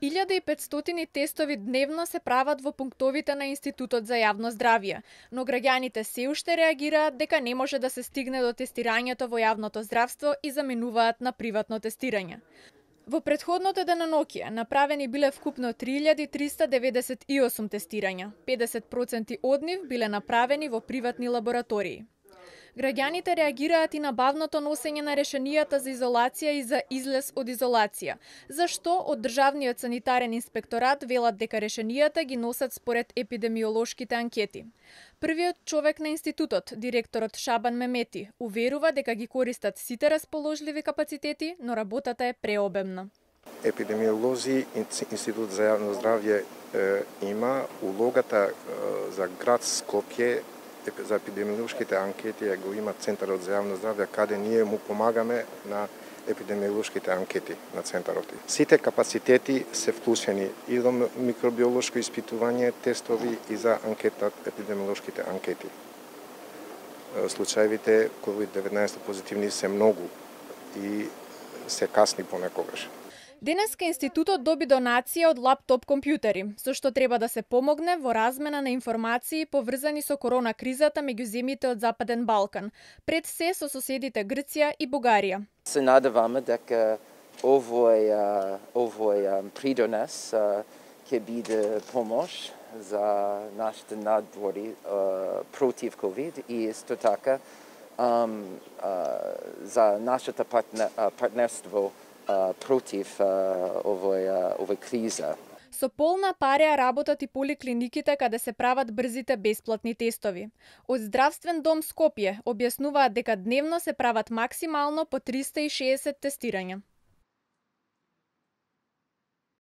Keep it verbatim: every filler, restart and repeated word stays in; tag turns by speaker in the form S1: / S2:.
S1: илјада и петстотини тестови дневно се прават во пунктовите на Институтот за јавно здравје, но граѓаните се уште реагираат дека не може да се стигне до тестирањето во јавното здравство и заменуваат на приватно тестирање. Во претходното деноноќие направени биле вкупно три илјади триста деветдесет и осум тестирања, педесет проценти од нив биле направени во приватни лаборатории. Граѓаните реагираат и на бавното носење на решенијата за изолација и за излез од изолација, зашто од Државниот санитарен инспекторат велат дека решенијата ги носат според епидемиолошките анкети. Првиот човек на институтот, директорот Шабан Мемети, уверува дека ги користат сите расположливи капацитети, но работата е преобемна.
S2: Епидемиолози, Институт за јавно здравје има улогата за град Скопје за епидемиолошките анкети го има Центарот за јавно здравје, каде ние му помагаме на епидемиолошките анкети на Центарот. Сите капацитети се вклучени и до микробиолошко испитување, тестови и за анкета, епидемиолошките анкети. Случаевите ковид деветнаесет позитивни се многу и се касни понекогаш.
S1: Денеска институтот доби донација од лаптоп компјутери, со што треба да се помогне во размена на информации поврзани со корона кризата меѓу земјите од Западен Балкан, пред се со соседите Грција и Бугарија.
S3: Се надеваме дека овој овој придонес ќе биде помош за нашите надбори против ковид и исто така за нашето партнерство против овој овој криза.
S1: Со полна пареа работат и поликлиниките каде се прават брзите бесплатни тестови. Од Здравствен дом Скопје објаснуваат дека дневно се прават максимално по триста и шеесет тестирања.